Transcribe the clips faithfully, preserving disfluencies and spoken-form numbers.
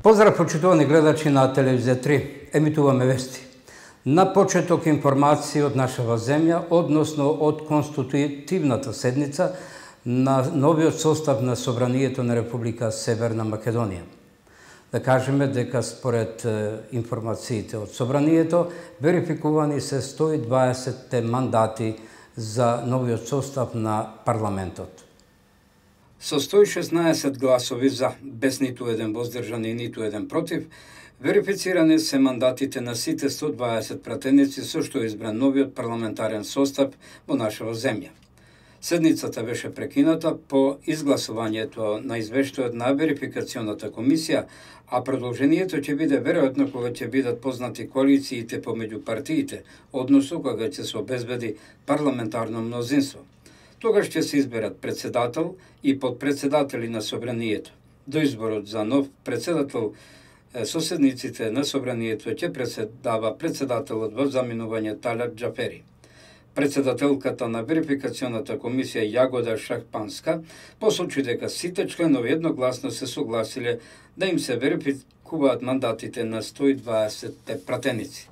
Поздрав, почитувани гледачи на Телевизија три. Емитуваме вести. На почеток информации од нашава земја, односно од конститутивната седница на новиот состав на Собранието на Република Северна Македонија. Да кажеме дека според информациите од Собранието, верификувани се сто и дваесет мандати за новиот состав на парламентот. Со сто и шеснаесет гласови за, без ниту еден воздржан и ниту еден против, верифицирани се мандатите на сите сто и дваесет пратеници со што избран новиот парламентарен состав во нашава земја. Седницата беше прекината по изгласувањето на извештајот на верификационата комисија, а продолжението ќе биде веројатно кога ќе бидат познати коалициите помеѓу партиите, односно кога ќе се обезбеди парламентарно мнозинство. Тогаш ќе се изберат председател и подпредседатели на Собранието. До изборот за нов председател со седниците на Собранието ќе председава председателот во заминување Талат Џафери. Председателката на верификационата комисија Јагода Шахпанска посочи дека сите членови едногласно се согласиле да им се верификуваат мандатите на сто и дваесет пратеници.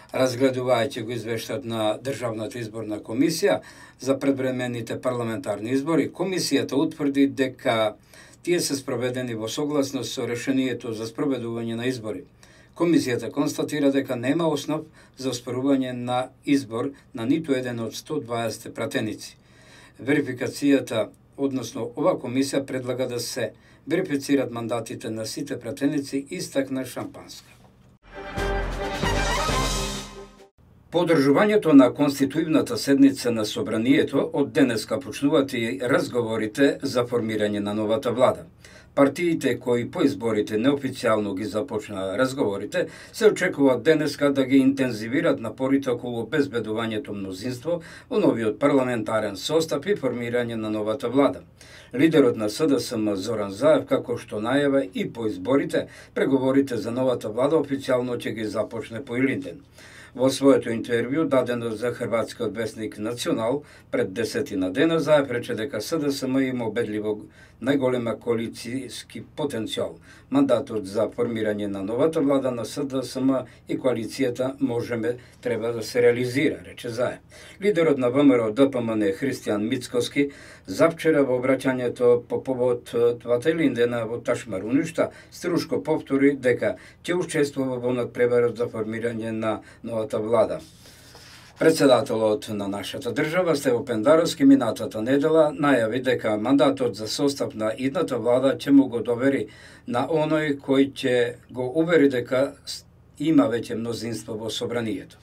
Разгледувајќи го извештајот на Државната изборна комисија за предвремените парламентарни избори, комисијата утврди дека тие се спроведени во согласност со решението за спроведување на избори. Комисијата констатира дека нема основ за оспорување на избор на ниту еден од сто и дваесет пратеници. Верификацијата, односно ова комисија, предлага да се верифицират мандатите на сите пратеници, истакна Шампанска. По одржувањето на конституивната седница на Собранието, од денеска почнуваат и разговорите за формирање на новата влада. Партиите кои по изборите неофицијално ги започнаа разговорите, се очекува денеска да ги интензивират напорите околу обезбедувањето мнозинство во новиот парламентарен состав и формирање на новата влада. Лидерот на СДСМ Зоран Заев, како што најава и по изборите, преговорите за новата влада официјално ќе ги започне по Илинден. Во своето интервју дадено за хрватскиот весник Национал пред десетина дена, Заев рече дека СДСМ има убедливо најголема коалицијски потенцијал. Мандатот за формирање на новата влада на СДСМ и коалицијата можеме треба да се реализира, рече Заев. Лидерот на ВМРО ДПМН Христијан Мицкоски завчера во обраќањето по повод двата Илиндена во Ташмаруништа струшко повтори дека ќе учествува во надпреварот за формирање на новата влада. Председателот на нашата држава Стево Пендаровски минатата недела најави дека мандатот за состав на идната влада ќе му го довери на оној кој ќе го увери дека има веќе мнозинство во Собранието.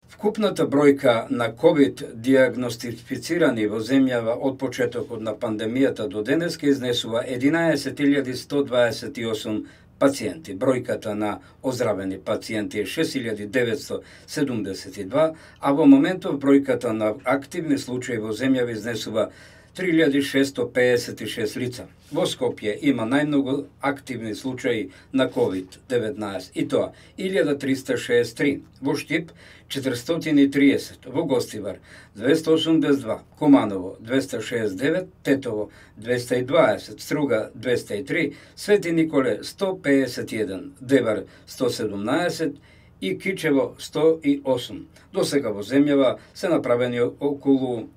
Вкупната бројка на ковид диагностифицирани во земјава од почетокот на пандемијата до денеска изнесува единаесет илјади сто дваесет и осум пациенти. Бројката на оздравени пациенти е шест илјади деветсто седумдесет и два, а во моментов бројката на активни случаи во земјава изнесува три илјади шестоста пеесет и шест лица. Во Скопје има најмногу активни случаи на ковид деветнаесет, и тоа илјада триста шеесет и три, во Штип четиристотини и триесет, во Гостивар двеста осумдесет и два, Куманово двеста шеесет и девет, Тетово двеста и дваесет, Струга двеста и три, Свети Николе сто пеесет и еден, Девар сто седумнаесет и Кичево сто и осум. До сега во земјава се направени околу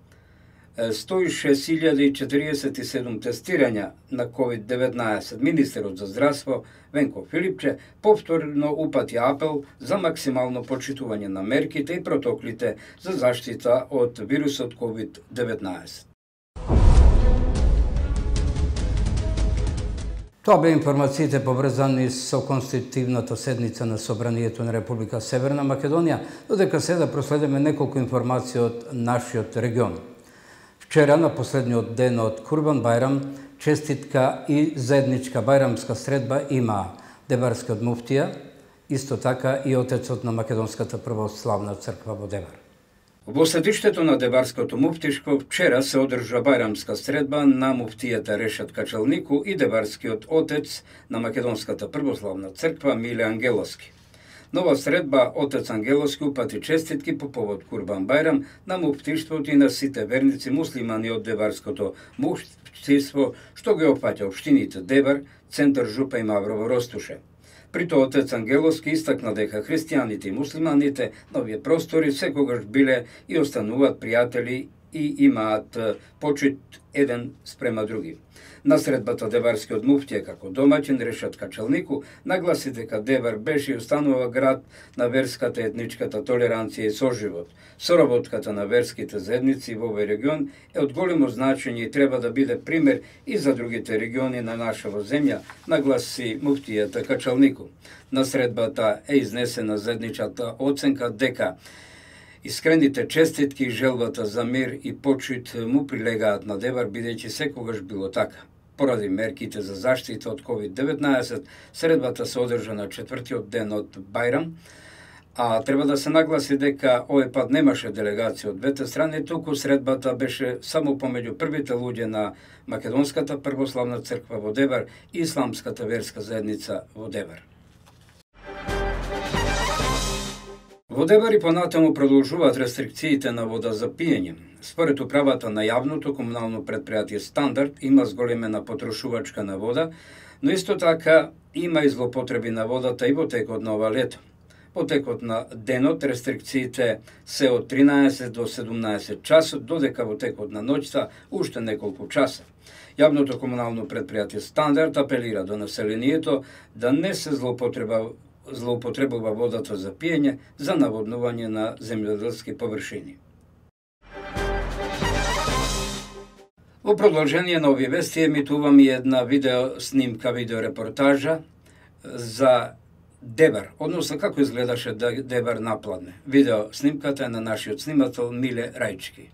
сто и шест илјади четириесет и седум тестирања на ковид деветнаесет. Министерот за здравство Венко Филипче повторно упати апел за максимално почитување на мерките и протоколите за заштита од вирусот ковид деветнаесет. Тоа бе информациите поврзани со конститутивната седница на Собранието на Република Северна Македонија, додека сега проследиме неколку информации од нашиот регион. Вчера, на последниот ден од Курбан Бајрам, честитка и заедничка бајрамска средба има Дебарскиот муфтија, исто така и отецот на Македонската православна црква во Дебар. Во седиштето на Дебарското муфтишко вчера се одржа бајрамска средба на муфтијата Решат Качалнику и Дебарскиот отец на Македонската православна црква Миле Ангеловски. Нова средба отец Ангеловски упати честитки по повод Курбан Бајрам на муфтиштвото и на сите верници муслимани од Деварското муфтиство, што ги опфаќа општините Девар, Центар Жупа и Маврово Ростуше. При тоа отец Ангеловски истакна дека христијаните и муслиманите на овие простори секогаш биле и остануваат пријатели и имаат почит еден спрема други. На средбата деварскиот муфтија како домаќин Решат Качалнику нагласи дека Девар беше и останува град на верската и етничката толеранција и соживот. Соработката на верските заедници во овој регион е од големо значење и треба да биде пример и за другите региони на нашава земја, нагласи муфтијата Качалнику. На средбата е изнесена заедничата оценка дека искрените честитки и желбата за мир и почит му прилегаат на Девар, бидејќи секогаш било така. Поради мерките за заштита од ковид деветнаесет, средбата се одржа на четвртиот ден од Бајрам, а треба да се нагласи дека овој пат немаше делегација од двете страни, туку средбата беше само помеѓу првите луѓе на Македонската православна црква во Девар и Исламската верска заедница во Девар. Во Девар и понатаму продолжуваат рестрикциите на вода за пиење. Според управата на јавното комунално предпријатие Стандард има зголемена потрошувачка на вода, но исто така има и злопотреби на водата и во текот на ова лето. Во текот на денот рестрикциите се од тринаесет до седумнаесет часот, додека во текот на ноќта уште неколку часа. Јавното комунално предпријатие Стандард апелира до населението да не се злоупотреба злоупотребува водата за пиење за наводнување на земјоделски површини. Во продолжение на овие вести емитувам и една видео снимка, видеорепортажа за Девар, односно како изгледаше Девар напладне. Видео снимката е на нашиот снимател Миле Рајчки.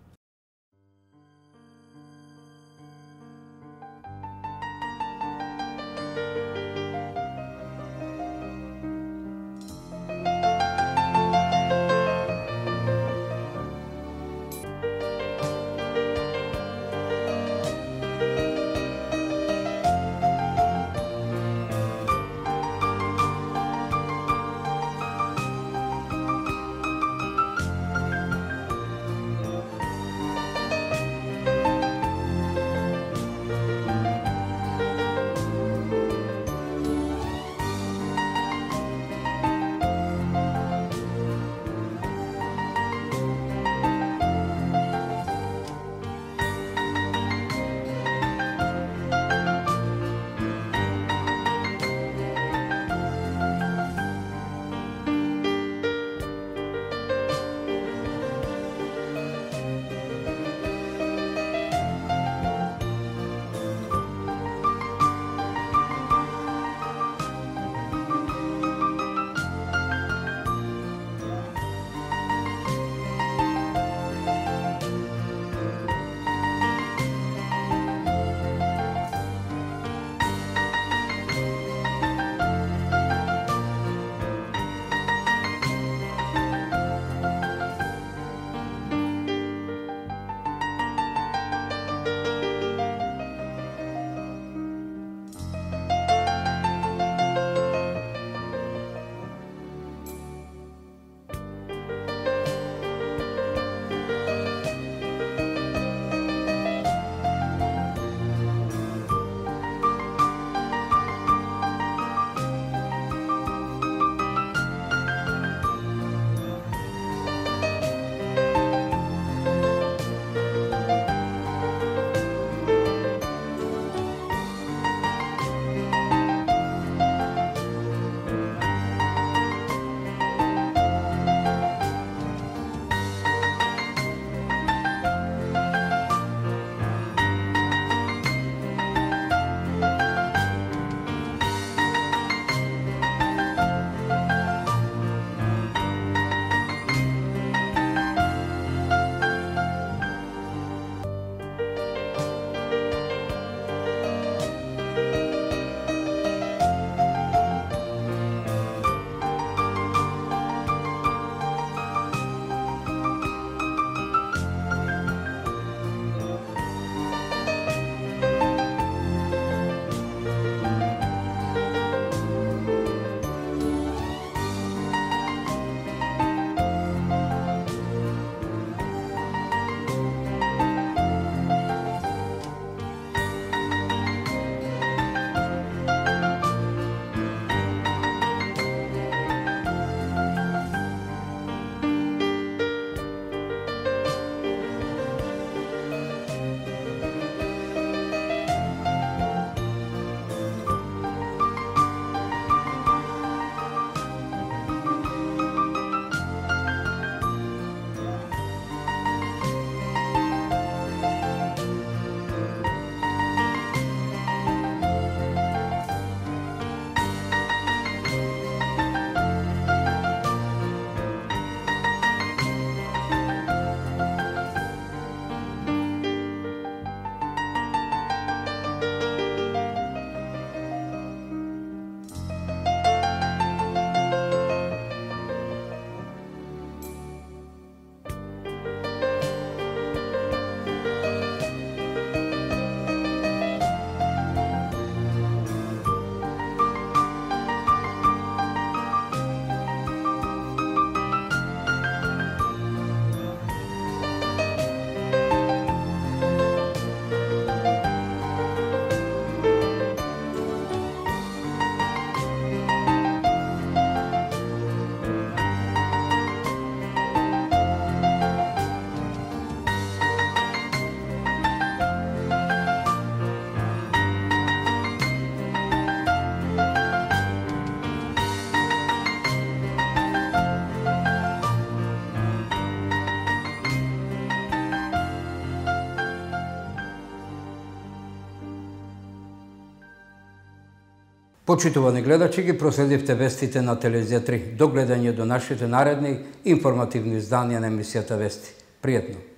Почитувани гледачи, ги проследивте вестите на Телевизија три. До гледање до нашите наредни информативни изданија на емисијата Вести. Пријатно!